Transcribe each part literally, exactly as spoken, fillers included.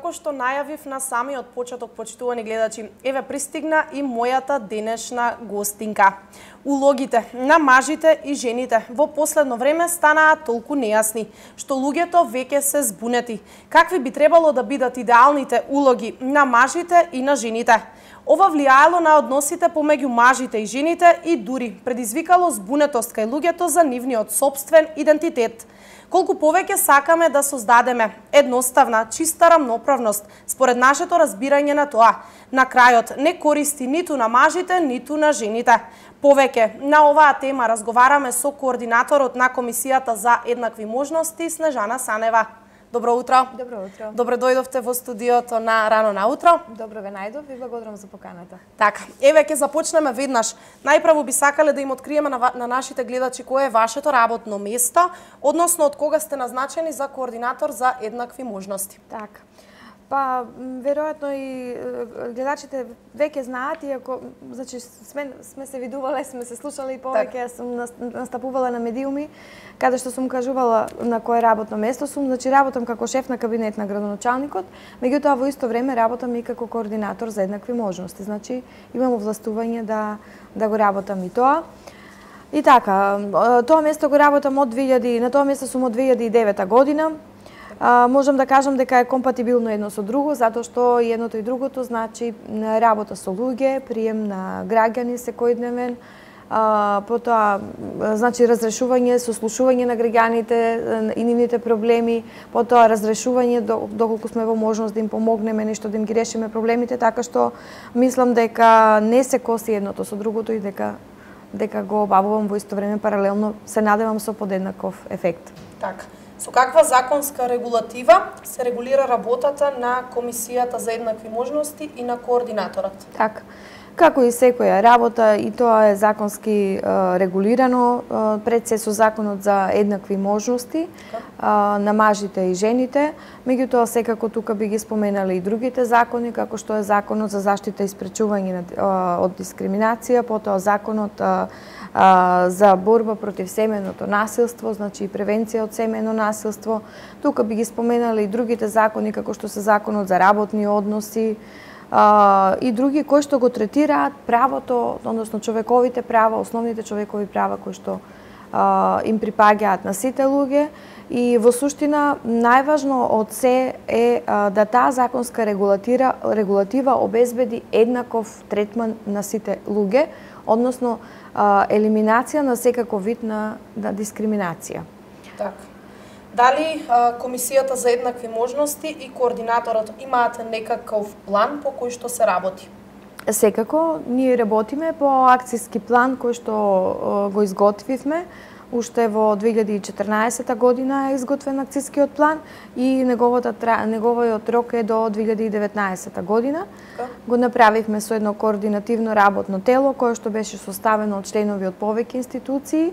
како што најавив на самиот почеток, почитувани гледачи, еве пристигна и мојата денешна гостинка. Улогите на мажите и жените во последно време станаа толку нејасни, што луѓето веќе се збунети. Какви би требало да бидат идеалните улоги на мажите и на жените? Ова влијаело на односите помеѓу мажите и жените и дури предизвикало збунетост кај луѓето за нивниот сопствен идентитет. Колку повеќе сакаме да создадеме едноставна, чиста рамноправност, според нашето разбирање на тоа, на крајот не користи ниту на мажите, ниту на жените. Повеќе на оваа тема разговараме со координаторот на Комисијата за еднакви можности, Снежана Санева. Добро утро. Добро утро. Добре дојдовте во студиото на Рано наутро. Добро ве најдов и благодарам за поканата. Така, еве ќе започнеме веднаш. Најпрво би сакале да им откриеме на, на нашите гледачи кое е вашето работно место, односно од кога сте назначени за координатор за еднакви можности. Така. Па, веројатно и гледачите веќе знаат, иако значи сме сме се видувале, сме се слушале и повеќе так. Сум настапувала на медиуми, каде што сум кажувала на кое работно место сум, значи работам како шеф на кабинет на градоначалникот, меѓутоа во исто време работам и како координатор за еднакви можности. Значи имам овластување да да го работам и тоа. И така, тоа место го работам од две илјади, на тоа место сум од две илјади и девета година. А, можам да кажам дека е компатибилно едно со друго, затоа што и едното и другото значи работа со луѓе, прием на граѓани секојдневен, а, потоа значи разрешување, сослушување на граѓаните и нивните проблеми, потоа разрешување доколку сме во можност да им помогнеме нешто да им ги решиме проблемите, така што мислам дека не се коси едното со другото и дека дека го обавувам во исто време паралелно, се надевам со подеднаков ефект. Така. Со каква законска регулатива се регулира работата на Комисијата за еднакви можности и на координаторот? Така. Како и секоја работа, и тоа е законски е, регулирано, е, пред се со законот за еднакви можности е, на мажите и жените. Меѓутоа, секако тука би ги споменали и другите закони, како што е законот за заштита и спречување од дискриминација, потоа законот е, за борба против семејното насилство, значи и превенција од семејно насилство. Тука би ги споменали и другите закони, како што се законот за работни односи а, и други кои што го третираат правото, односно човековите права, основните човекови права кои што а, им припаѓаат на сите луѓе. И во суштина најважно од се е а, да таа законска регулатира, регулатива обезбеди еднаков третман на сите луѓе, односно а, елиминација на секаков вид на, на дискриминација. Така. Дали а, Комисијата за еднакви можности и координаторот имаат некаков план по кој што се работи? Секако, ние работиме по акцијски план кој што а, го изготвивме. Уште во две илјади и четрнаесета година е изготвен акцијскиот план и неговата, неговиот рок е до две илјади и деветнаесета година. Okay. Го направивме со едно координативно работно тело кое што беше составено од членови од повеќе институции,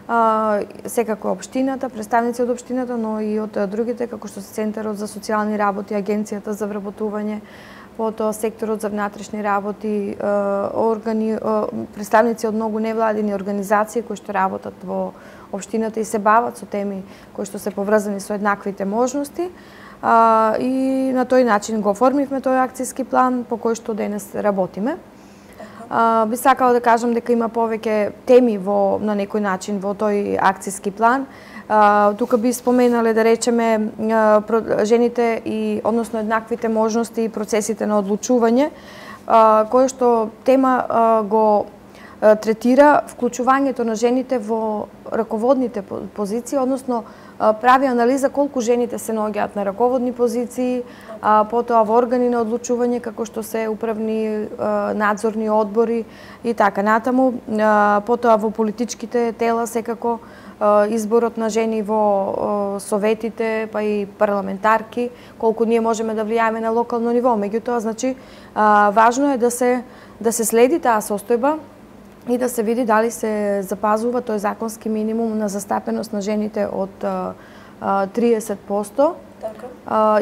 а, секако општината, представници од општината, но и од другите, како што се Центарот за социјални работи, Агенцијата за вработување, потоа секторот за внатрешни работи, органи, представници од многу невладини организации кои што работат во општината и се бават со теми кои што се поврзани со еднаквите можности. И на тој начин го оформивме тој акцијски план по кој што денес работиме. Би сакала да кажам дека има повеќе теми во на некој начин во тој акцијски план. Uh, тука би споменале да речеме uh, жените и односно еднаквите можности и процесите на одлучување, uh, кој што тема uh, го uh, третира вклучувањето на жените во раководните позиции, односно uh, прави анализа колку жените се наоѓаат на раководни позиции, uh, потоа во органи на одлучување како што се управни uh, надзорни одбори и така натаму, uh, потоа во политичките тела секако изборот на жени во советите, па и парламентарки, колку ние можеме да влијаеме на локално ниво. Меѓутоа, значи, важно е да се да се следи таа состојба и да се види дали се запазува тој законски минимум на застапеност на жените од триесет проценти, така.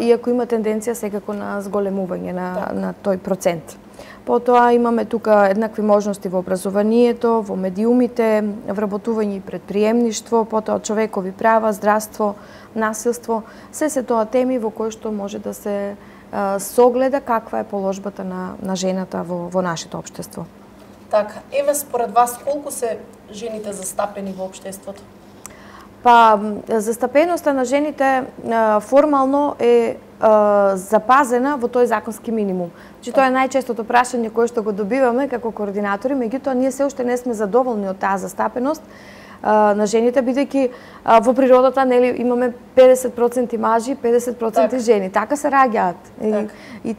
Иако има тенденција секако на зголемување на, така. на тој процент. Потоа имаме тука еднакви можности во образованието, во медиумите, вработување и предприемништво, потоа човекови права, здравство, насилство, се се тоа теми во кои што може да се со огледа каква е положбата на, на жената во, во нашето општество. Така, еве според вас колку се жените застапени во општеството? Па, застапеноста на жените формално е запазена во тој законски минимум. Значи, тоа е најчестото прашање кое што го добиваме како координатори, меѓутоа ние се уште не сме задоволни од таа застапеност на жените, бидејќи во природата нели имаме педесет проценти мажи, педесет проценти так. Жени. Така се раѓаат. Так. И, и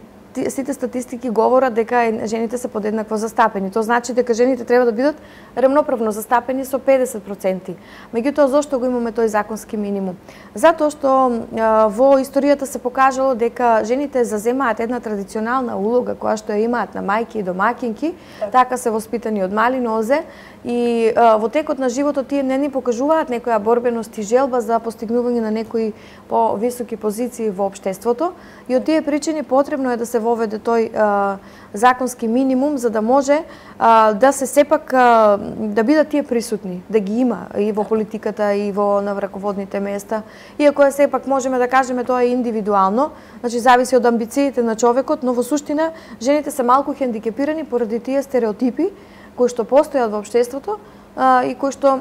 сите статистики говорат дека жените се подеднакво застапени. Тоа значи дека жените треба да бидат рамноправно застапени со педесет проценти. Меѓутоа, зошто го имаме тој законски минимум? Затоа што а, во историјата се покажало дека жените заземаат една традиционална улога која што ја имаат на мајки и домаќинки, так. Така се воспитани од мали нозе и а, во текот на животот тие не ни покажуваат некоја борбеност и желба за постигнување на некои повисоки позиции во општеството и од тие причини потребно е да се воведе тој а, законски минимум за да може а, да се сепак а, да бидат тие присутни, да ги има и во политиката и во на раководните места. Иако е сепак можеме да кажеме тоа е индивидуално, значи зависи од амбициите на човекот, но во суштина жените се малку хендикепирани поради тие стереотипи кои што постојат во општеството а, и кои што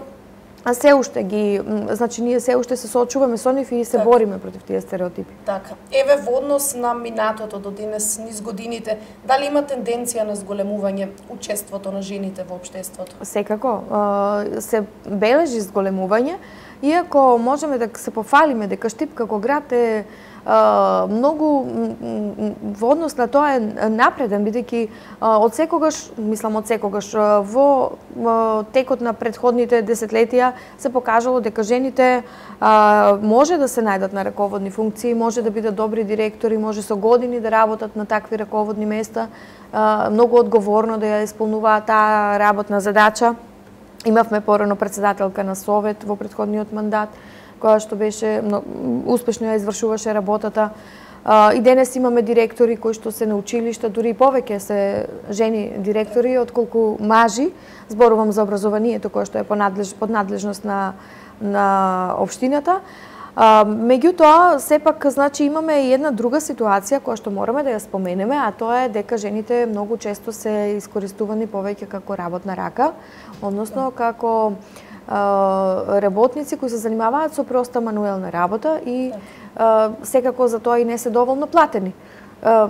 а се уште ги, значи ние се уште се соочуваме со нив и се так. Бориме против тие стереотипи. Така. Еве во однос на минатото до денес, низ годините, дали има тенденција на зголемување учеството на жените во општеството? Секако, се бележи зголемување, иако можеме да се пофалиме дека Штип како град е Uh, многу во однос на тоа е напреден, бидејќи uh, од секогаш, мислам од секогаш, uh, во uh, текот на претходните десетлетија се покажало дека жените uh, може да се најдат на раководни функции, може да бидат добри директори, може со години да работат на такви раководни места, uh, многу одговорно да ја исполнуваат таа работна задача. Имавме порано председателка на совет во претходниот мандат, која што беше успешно ја извршуваше работата. И денес имаме директори кои што се на училишта, дури и повеќе се жени директори отколку мажи. Зборувам за образованието кое што е под надлежност на на општината. Меѓутоа, сепак, значи, имаме и една друга ситуација која што мораме да ја споменеме, а тоа е дека жените многу често се искористувани повеќе како работна рака, односно како работници кои се занимаваат со проста мануелна работа и а, секако за тоа и не се доволно платени. А,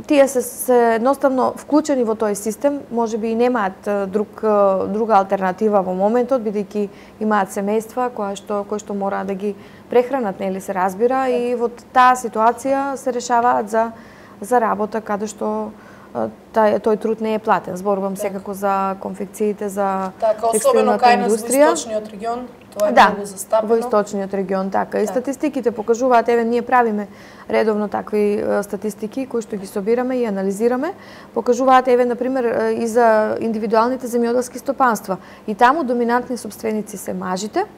тие се, се едноставно вклучени во тој систем, можеби и немаат друг, друга алтернатива во моментот, бидејќи имаат семејства кои што, кои што мора да ги прехранат, нели се разбира, и во таа ситуација се решаваат за, за работа каде што Тај, тој труд не е платен. Зборувам так. Секако за конфекциите, за така, текстилната индустрија. Особено кај нас во источниот регион, тоа е да, многу застапено. Во источниот регион, така. И так. Статистиките покажуваат, еве ние правиме редовно такви статистики кои што ги собираме и анализираме, покажуваат еве на пример и за индивидуалните земјоделски стопанства. И таму доминантни собственици се мажите,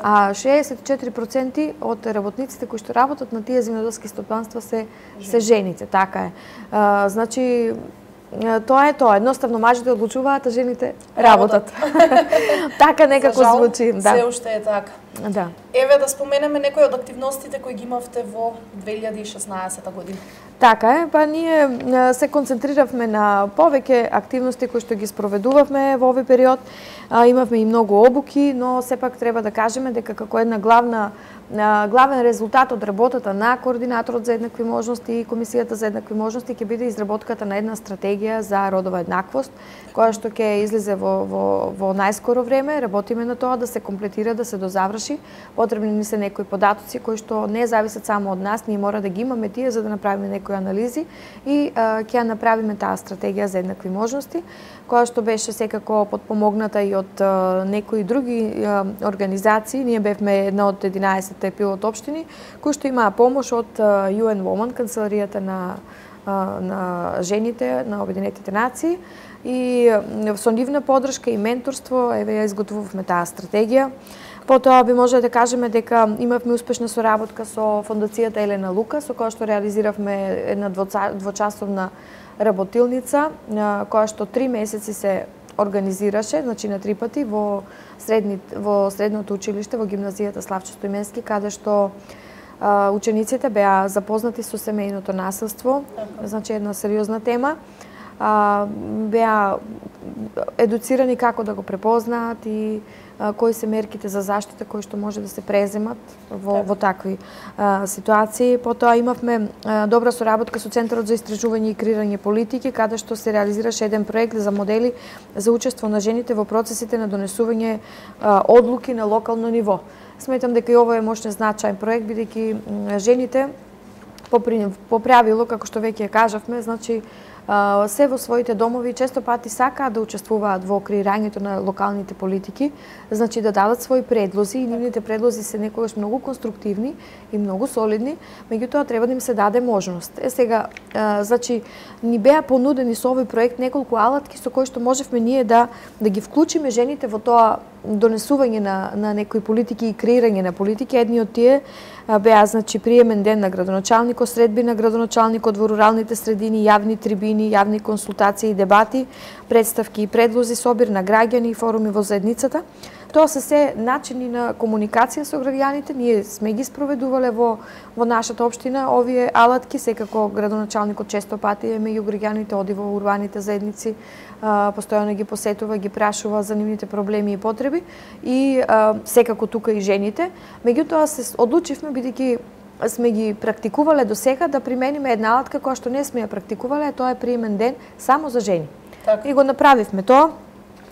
а шеесет и четири проценти од работниците кои што работат на тие земјоделски стопанства се Жени. се жените, така е. А, значи тоа е тоа, едноставно мажите одлучуваат, а жените работат. Така некако жал, звучи, да. Се уште е така. Да. Еве да споменеме некои од активностите кои ги имавте во две илјади и шеснаесета година. Така е, па ние се концентриравме на повеќе активности кои што ги спроведувавме во овој период. Имавме и многу обуки, но сепак треба да кажеме дека како една главна главен резултат од работата на координаторот за еднакви можности и комисијата за еднакви можности ќе биде изработката на една стратегија за родова еднаквост, која што ќе излезе во, во, во најскоро време. Работиме на тоа да се комплетира, да се дозаврши. Потребни ни се некои податоци кои што не зависат само од нас, ние мора да ги имаме тие за да направиме некои анализи и а, ќе направиме таа стратегија за еднакви можности, која што беше секако подпомогната и од а, некои други а, организации. Ние бевме една од единаесет пилот општини кои што имаа помош од Ю Ен Women, канцеларијата на на жените на Обединетите нации, и со нивна поддршка и менторство еве ја изготвувавме таа стратегија. Потоа би може да кажеме дека имавме успешна соработка со Фондацијата Елена Лука, со која што реализиравме една двочасовна работилница, која што три месеци се организираше, значи на три пати во средни во средното училиште, во гимназијата Славчо Стоименски, каде што учениците беа запознати со семејното насилство, значи една сериозна тема. Беа едуцирани како да го препознаат и кои се мерките за заштита кои што може да се преземат во, во такви а, ситуации. Потоа имавме а, добра соработка со Центарот за истражување и креирање политики, каде што се реализираше еден проект за модели за учество на жените во процесите на донесување а, одлуки на локално ниво. Сметам дека и ово е мощен значаен проект, бидејќи жените по, по правило, како што веќе кажавме, значи се во своите домови често пати сакаат да учествуваат во креирањето на локалните политики, значи да дадат своји предлози и нивните предлози се некогаш многу конструктивни и многу солидни, меѓутоа треба да им се даде можност. Е сега, значи ни беа понудени со овој проект неколку алатки со кои што можевме ние да да ги вклучиме жените во тоа донесување на на некои политики и креирање на политики. Едни од тие беа значи приемен ден на градоначалникот, средби на градоначалникот во руралните средини, јавни трибини, јавни консултации и дебати, представки и предлози, собир на граѓани и форуми во заедницата. Тоа се се начини на комуникација со граѓаните. Ние сме ги спроведувале во во нашата општина овие алатки, секако градоначалникот често пати е меѓу граѓаните, оди во урбаните заедници, а, постојано ги посетува, ги прашува за нивните проблеми и потреби и а, секако тука и жените. Меѓутоа се одлучивме, бидејќи сме ги практикувале до сега, да примениме една алатка која што не сме ја практикувале, тоа е приемен ден само за жени. Так. И го направивме тоа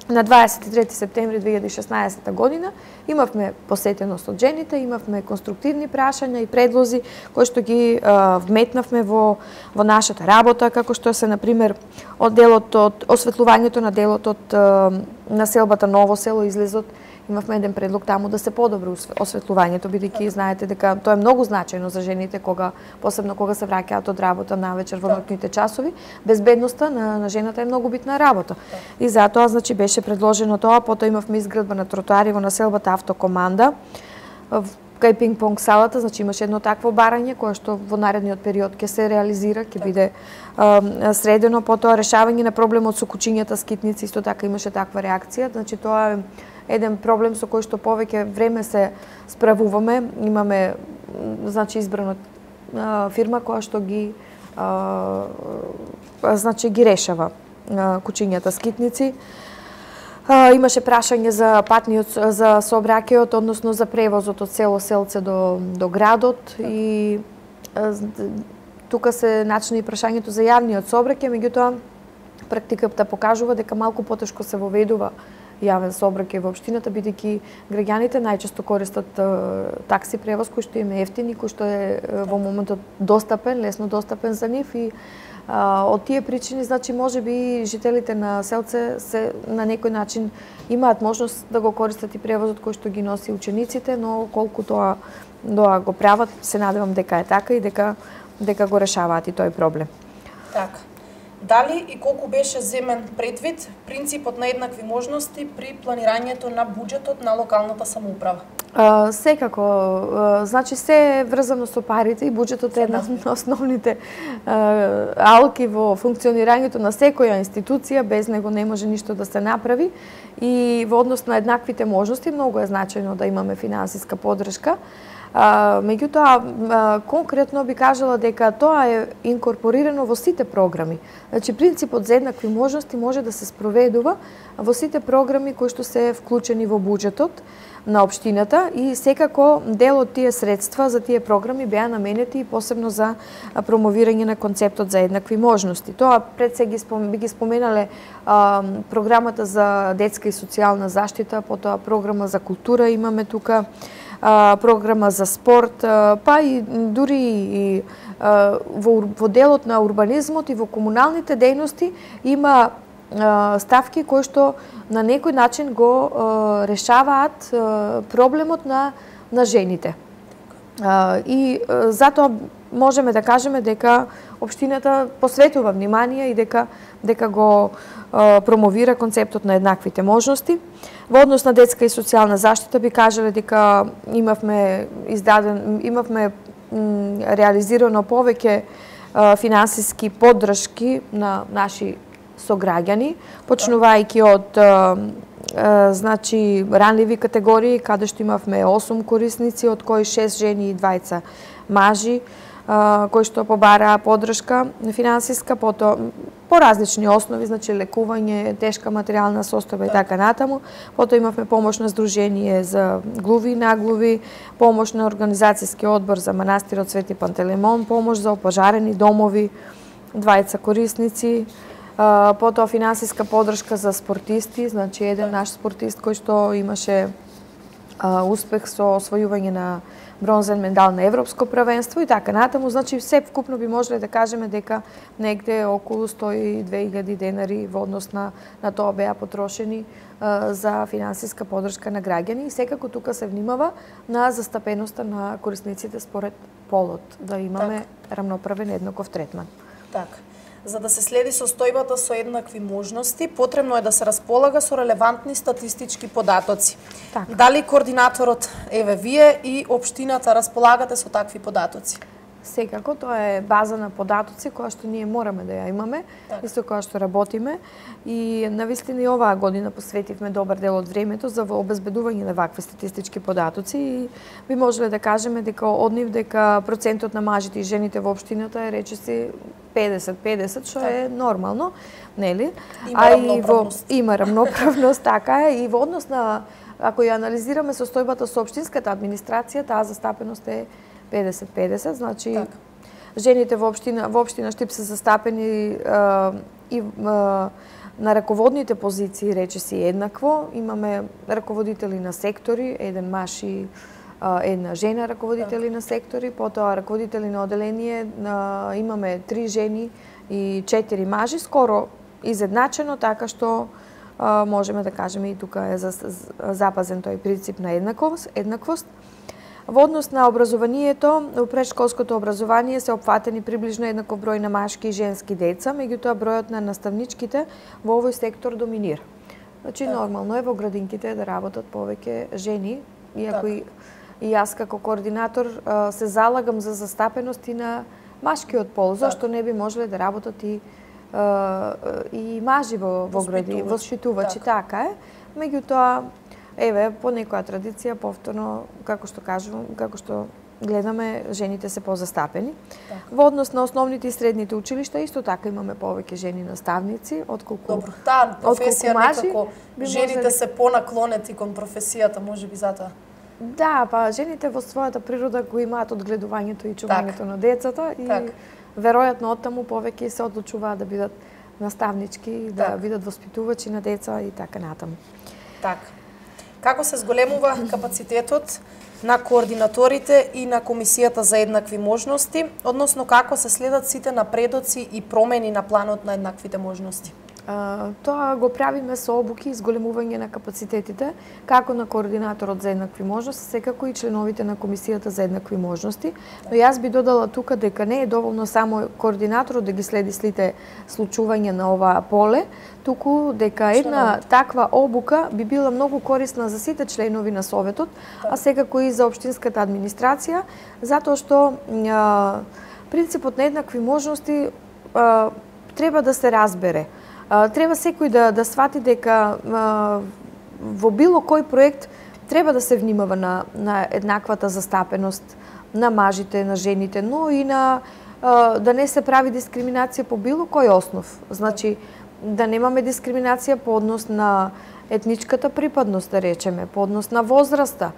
на дваесет и трети септември две илјади и шеснаесетта година. Имавме посетеност од жените, имавме конструктивни прашања и предлози кои што ги а, вметнавме во во нашата работа, како што се на пример од делот од осветлувањето на делот од а, населбата Ново село излезот. Имавме еден предлог таму да се подобри осветлувањето, бидејќи знаете дека тоа е многу значајно за жените кога посебно кога се враќаат од работа навечер во ноќните часови. Безбедноста на, на жената е многу битна работа. И затоа значи беше предложено тоа, потоа имавме изградба на тротоари во населбата Автокоманда. Кај пинг-понг салата, значи имаше едно такво барање кое што во наредниот период ќе се реализира, ќе биде а, средено, потоа решавање на проблемот со кучињата скитници, исто така имаше таква реакција, значи тоа е еден проблем со кој што повеќе време се справуваме. Имаме значи избрана а, фирма која што ги а, значи ги решава а, кучињата скитници. А, имаше прашање за патниот за сообраќајот, односно за превозот од село Селце до до градот и а, тука се начина и прашањето за јавниот сообраќај, меѓутоа практиката покажува дека малку потешко се воведува јавен сообраќај во општината, бидејќи граѓаните најчесто користат uh, такси превоз кој што им е ефтин и кој што е uh, во моментот достапен, лесно достапен за нив и uh, од тие причини, значи можеби жителите на Селце се на некој начин имаат можност да го користат и превозот кој што ги носи учениците, но колку тоа тоа го прават, се надевам дека е така и дека дека го решаваат и тој проблем. Така. Дали и колку беше земен предвид принципот на еднакви можности при планирањето на буџетот на локалната самоуправа? А, секако, а, значи се е врзано со парите и буџетот е една од основните а, алки во функционирањето на секоја институција, без него не може ништо да се направи и во однос на еднаквите можности многу е значајно да имаме финансиска поддршка. А, меѓутоа, конкретно би кажала дека тоа е инкорпорирано во сите програми. Значи, принципот за еднакви можности може да се спроведува во сите програми кои што се вклучени во буџетот на општината и секако дел од тие средства за тие програми беа наменети посебно за промовирање на концептот за еднакви можности. Тоа пред се ги спом, би ги споменале а, програмата за детска и социјална заштита, потоа програма за култура имаме тука, а, програма за спорт, а, па и дури и а, во, во делот на урбанизмот и во комуналните дејности има а, ставки кои што на некој начин го а, решаваат а, проблемот на на жените. А, и а, затоа можеме да кажеме дека општината посветува внимание и дека дека го а, промовира концептот на еднаквите можности. Во однос на детска и социјална заштита би кажале дека имавме издаден имавме м, реализирано повеќе а, финансиски поддршки на наши сограѓани, почнувајќи од а, а, значи ранливи категории каде што имавме осум корисници, од кои шест жени и двајца мажи кои што побараа поддршка финансиска, потоа по различни основи, значи лекување, тешка материјална состојба и така натаму. Потоа имавме помош на Сдружение за глуви и наглуви, помош на Организацијски одбор за манастирот Свети Пантелеймон, помош за опожарени домови, двајца корисници, потоа финансиска поддршка за спортисти, значи еден наш спортист кој што имаше успех со освојување на бронзен медал на Европско првенство и така натаму, значи се вкупно би можеле да кажеме дека негде околу сто и две илјади денари во однос на, на тоа беа потрошени а, за финансиска поддршка на граѓани и секако тука се внимава на застапеноста на корисниците според полот, да имаме так. рамноправен еднаков третман. Така. За да се следи состојбата со еднакви можности, потребно е да се располага со релевантни статистички податоци. Так. Дали координаторот, еве вие и општината располагате со такви податоци? Секако, тоа е база на податоци која што ние мораме да ја имаме, так. и со која што работиме. И навистина и оваа година посветивме добар дел од времето за обезбедување на вакви статистички податоци и би можеле да кажеме дека од нив дека процентот на мажите и жените во општината е речиси педесет педесет, што так. е нормално, нели? Има а рамноправност. И во, има рамноправност, така е, и во однос на, ако ја анализираме состојбата со општинската администрација, таа застапеност е педесет педесет, значи так. жените во општина во општина Штип се застапени а, и а, на раководните позиции речиси еднакво. Имаме раководители на сектори, еден маж и а, една жена раководители так. на сектори, потоа раководители на оделение а, имаме три жени и четири мажи, скоро изедначено, така што а, можеме да кажеме и тука е за, за, запазен тој принцип на еднаквост, еднаквост. Во однос на образованието, во претшколското образование се опфатени приближно еднаков број на машки и женски деца, меѓутоа бројот на наставничките во овој сектор доминира. Значи так. нормално е во градинките да работат повеќе жени, иако так. и, и јас како координатор се залагам за застапеност и на машкиот пол, так. зашто не би можеле да работат и и мажи во во гради, воспитувачи, така е. Меѓутоа еве, по некоја традиција, повторно, како што кажувам, како што гледаме, жените се позастапени. Так. Во однос на основните и средните училишта, исто така имаме повеќе жени наставници, отколку Добро, таа професија мажи, некако, жените можели... се понаклонети кон професијата, можеби затоа. Да, па жените во својата природа го имаат одгледувањето и чувањето так. на децата и так. веројатно оттаму повеќе се одлучуваат да бидат наставнички, да так. бидат воспитувачи на деца и така натаму. Така. Како се зголемува капацитетот на координаторите и на Комисијата за еднакви можности, односно како се следат сите напредоци и промени на планот на еднаквите можности? А, тоа го правиме со обуки и зголемување на капацитетите, како на координаторот за еднакви можности, секако и членовите на Комисијата за еднакви можности. Но јас би додала тука дека не е доволно само координаторот да ги следи сите случувања на оваа поле, туку дека една таква обука би била многу корисна за сите членови на Советот, а секако и за општинската администрација, затоа што а, принципот на еднакви можности а, треба да се разбере. А, треба секој да, да свати дека а, во било кој проект треба да се внимава на, на еднаквата застапеност на мажите, на жените, но и на а, да не се прави дискриминација по било кој основ. Значи, да немаме дискриминација по однос на етничката припадност, да речеме, по однос на возраста,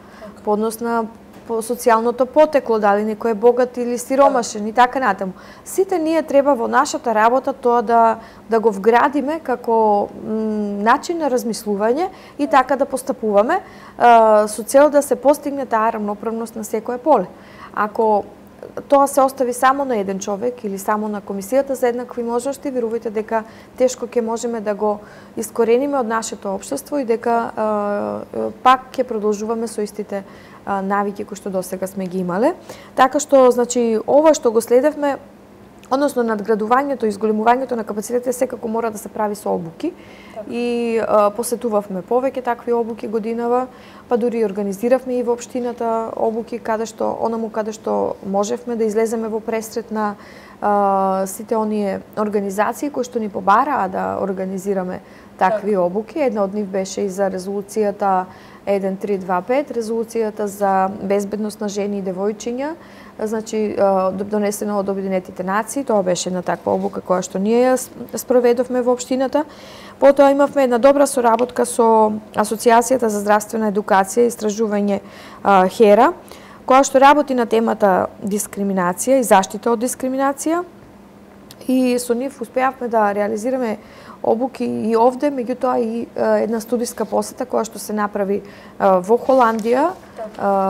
по однос на по социјалното потекло, дали некој е богат или сиромашен и така натаму. Сите ние треба во нашата работа тоа да да го вградиме како начин на размислување и така да постапуваме а, со цел да се постигне таа рамноправност на секое поле. Ако тоа се остави само на еден човек или само на Комисијата за еднакви можности, верувајте дека тешко ќе можеме да го искорениме од нашето општество и дека а, пак ќе продолжуваме со истите а, навики кои што досега сме ги имале. Така што, значи, ова што го следевме, односно надградувањето и зголемувањето на капацитетите секако мора да се прави со обуки. Так. И а, посетувавме повеќе такви обуки годинава, па дури организиравме и во општината обуки каде што онаму каде што можевме да излеземе во пресрет на а, сите оние организации кои што ни побараа да организираме такви обуки. Една од нив беше и за резолуцијата еден три два пет, резолуцијата за безбедност на жени и девојчиња, значи донесено од Обединетите нации. Тоа беше една таква обука која што ние ја спроведовме во општината. Потоа имавме една добра соработка со Асоциацијата за здравствена едукација и истражување ХЕРА, која што работи на темата дискриминација и заштита од дискриминација. И со нив успеавме да реализираме обуки и овде, меѓутоа и една студиска посета која што се направи во Холандија,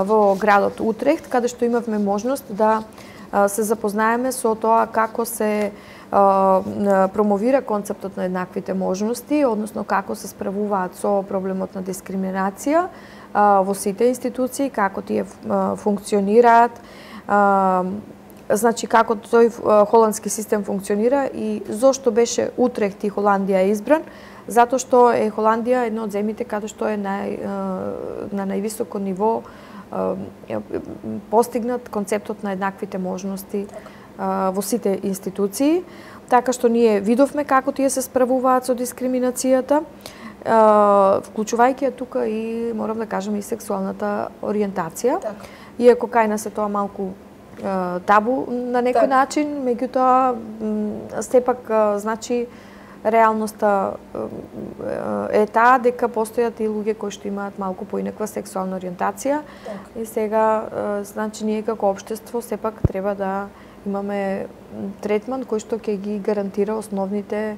во градот Утрехт, каде што имавме можност да се запознаеме со тоа како се промовира концептот на еднаквите можности, односно како се справуваат со проблемот на дискриминација во сите институции, како тие функционираат, значи како тој холандски систем функционира и зошто беше Утрехт и Холандија избран, затоа што е Холандија едно од земјите каде што е нај, на највисоко ниво постигнат концептот на еднаквите можности во сите институции, така што ние видовме како тие се справуваат со дискриминацијата, вклучувајќи ја тука и, морам да кажам, и сексуалната ориентација. Так. Иако кај нас е тоа малку табу на некој так. начин, меѓутоа сепак значи реалноста е таа дека постојат и луѓе кои што имаат малку поинаква сексуална ориентација. Так. И сега значи ние како општество сепак треба да имаме третман кој што ќе ги гарантира основните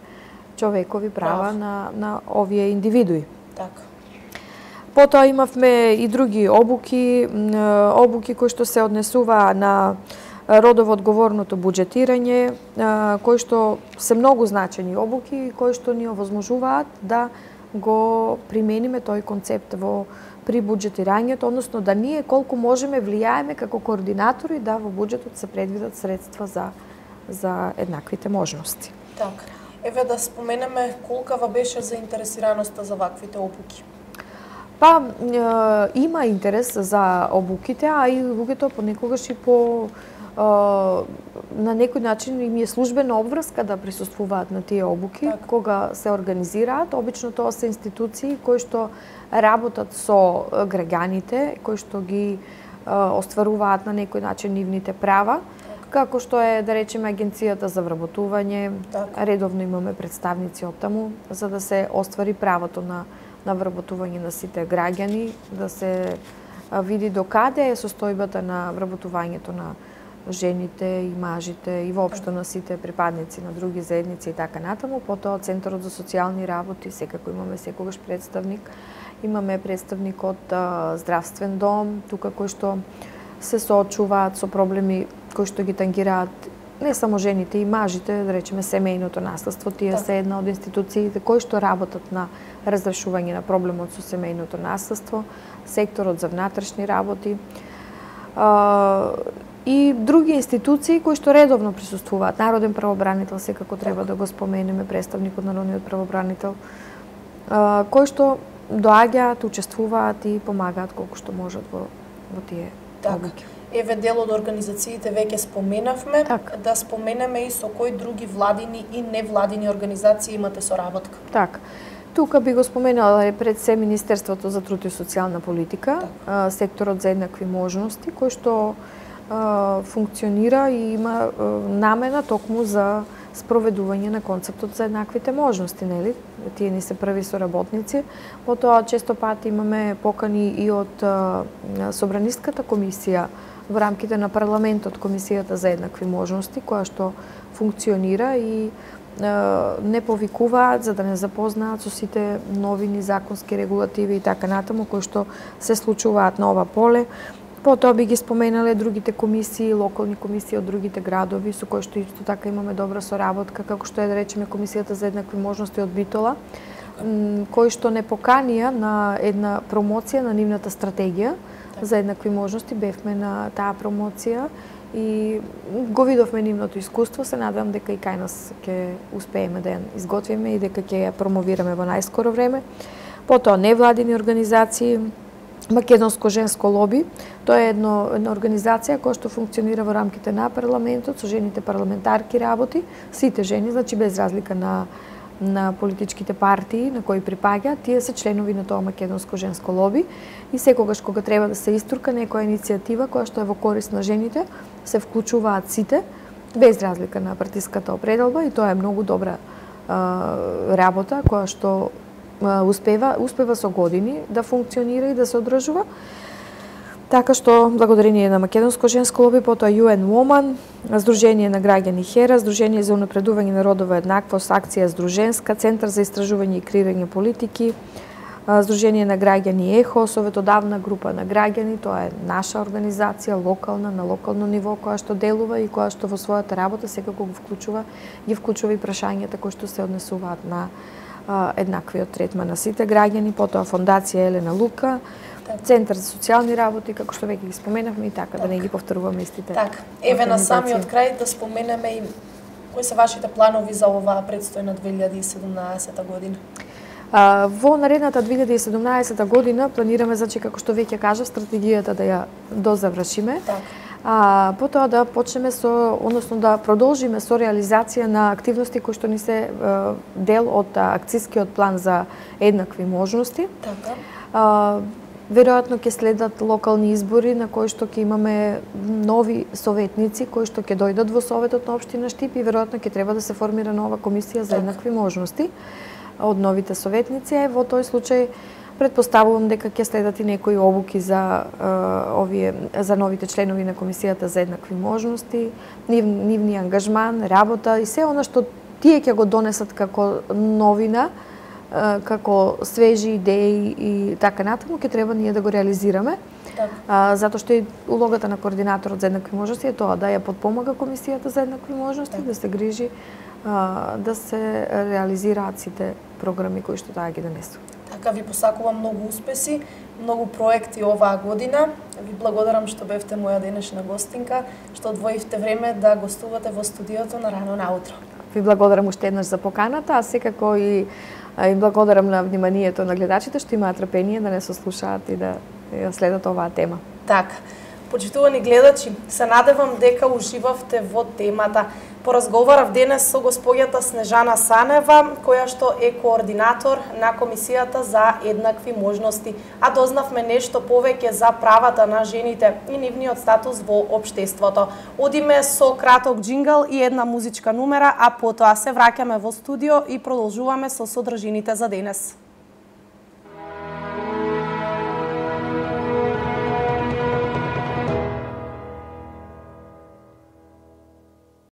човекови права Прав. на на овие индивидуи. Така. Потоа имавме и други обуки, обуки кои што се однесува на родово одговорното буџетирање, кои што се многу значени обуки, кои што ни овозможуваат да го примениме тој концепт во при буџетирањето, односно да ние колку можеме влијаеме како координатори да во буџетот се предвидат средства за за еднаквите можности. Така. Еве да споменеме колкава беше заинтересираноста за ваквите обуки. Па, е, има интерес за обуките, а и луѓето понекогаш и по е, на некој начин им е службена обврска да присуствуваат на тие обуки, так. Кога се организираат. Обично тоа се институции кои што работат со граѓаните, кои што ги е, остваруваат на некој начин нивните права, како што е, да речеме, Агенцијата за вработување. Так. Редовно имаме представници од таму, за да се оствари правото на на вработување на сите граѓани, да се види до каде е состојбата на вработувањето на жените и мажите и воопшто на сите припадници на други заедници и така натаму. Потоа Центарот за социјални работи, секако имаме секогаш представник. Имаме представник од а, здравствен дом, тука кои што се соочуваат со проблеми кои што ги тангираат не само жените и мажите, да речеме семејното наследство. Тие се една од институциите кои што работат на разрешување на проблемот со семејното наследство, секторот за внатрешни работи а, и други институции кои што редовно присуствуваат. Народен правобранител секако треба да го споменеме, представникот на народниот правобранител, а, кои што доаѓаат, учествуваат и помагаат колку што можат во, во тие обуки. Еве дел од организациите веќе споменавме, так. Да споменеме и со кои други владини и невладини организации имате соработка. Так. Тука би го споменала пред се Министерството за труд и социјална политика, так. Секторот за еднакви можности, кој што а, функционира и има а, намена токму за спроведување на концептот за еднаквите можности, нели? Тие ни се први соработници. Потоа често пати имаме покани и од а, Собраниската комисија во рамките на парламентот, Комисијата за еднакви можности, која што функционира и не повикуваат за да не запознаат со сите новини, законски регулативи и така натаму кои што се случуваат на ова поле. Потоа би ги споменале другите комисии, локални комисии од другите градови со кои што исто така имаме добра соработка, како што е да речеме Комисијата за еднакви можности од Битола, кои што не поканија на една промоција на нивната стратегија за еднакви можности. Бевме на таа промоција и го видовме нивното искуство. Се надевам дека и кај нас ќе успееме да ја изготвиме и дека ќе ја промовираме во најскоро време. Потоа невладини организации, Македонско женско лоби, тоа е едно, една организација која што функционира во рамките на парламентот, со жените парламентарки работи, сите жени, значи без разлика на на политичките партии на кои припаѓа, тие се членови на тоа македонско женско лоби и секогаш кога треба да се истурка некоја иницијатива која што е во корист на жените, се вклучуваат сите без разлика на партиската определба и тоа е многу добра а, работа која што а, успева успева со години да функционира и да се одржува. Така што, благодарение на Македонско женско лоби, потоа ю ен Woman, Сдружение на граѓани Хера, Сдружение за унапредување на родова еднаквост, Акција Сдруженска, Центар за истражување и креирање политики, Сдружение на граѓани Ехо, Советодавна група на граѓани, тоа е наша организација, локална, на локално ниво, која што делува и која што во својата работа секако го вклучува, ги вклучува и прашањата кои што се однесуваат на а, еднаквиот третман на сите граѓани, потоа Фондација Елена Лука, Центар за социјални работи, како што веќе ги споменавме и така, так. да не ги повторуваме истите. Так, еве на самиот крај да споменеме и кои се вашите планови за оваа предстојна две илјади и седумнаесета година? А, во наредната две илјади и седумнаесета година планираме, значи, како што веќе кажав, стратегијата да ја дозавршиме. Так. А, потоа да почнеме со, односно да продолжиме со реализација на активности кои што ни се а, дел од акцискиот план за еднакви можности. Така. А, Веројатно ќе следат локални избори на кои што ќе имаме нови советници кои што ќе дојдат во Советот на општина Штип и веројатно ќе треба да се формира нова комисија за еднакви можности од новите советници. Е, во тој случај претпоставувам дека ќе следат и некои обуки за uh, овие за новите членови на комисијата за еднакви можности, нив, нивни ангажман, работа и се она што тие ќе го донесат како новина, како свежи идеи и така натаму, ќе треба ние да го реализираме. Так. А, затоа што и улогата на координаторот за еднакви можности е тоа, да ја подпомага комисијата за еднакви можности, так. да се грижи а, да се реализираат сите програми кои што таа ги донесува. Така, ви посакувам многу успеси, многу проекти оваа година. Ви благодарам што бевте моја денешна гостинка, што одвоивте време да гостувате во студиото на Рано наутро. Ви благодарам уште еднаш за поканата, а секако и им благодарам на вниманието на гледачите што имаат трпение да не сослушаат и да ја следат оваа тема. Така. Почитувани гледачи, се надевам дека уживавте во темата. Поразговарав денес со госпоѓата Снежана Санева, која што е координатор на Комисијата за еднакви можности, а дознавме нешто повеќе за правата на жените и нивниот статус во општеството. Одиме со краток джингл и една музичка номера, а потоа се враќаме во студио и продолжуваме со содржините за денес.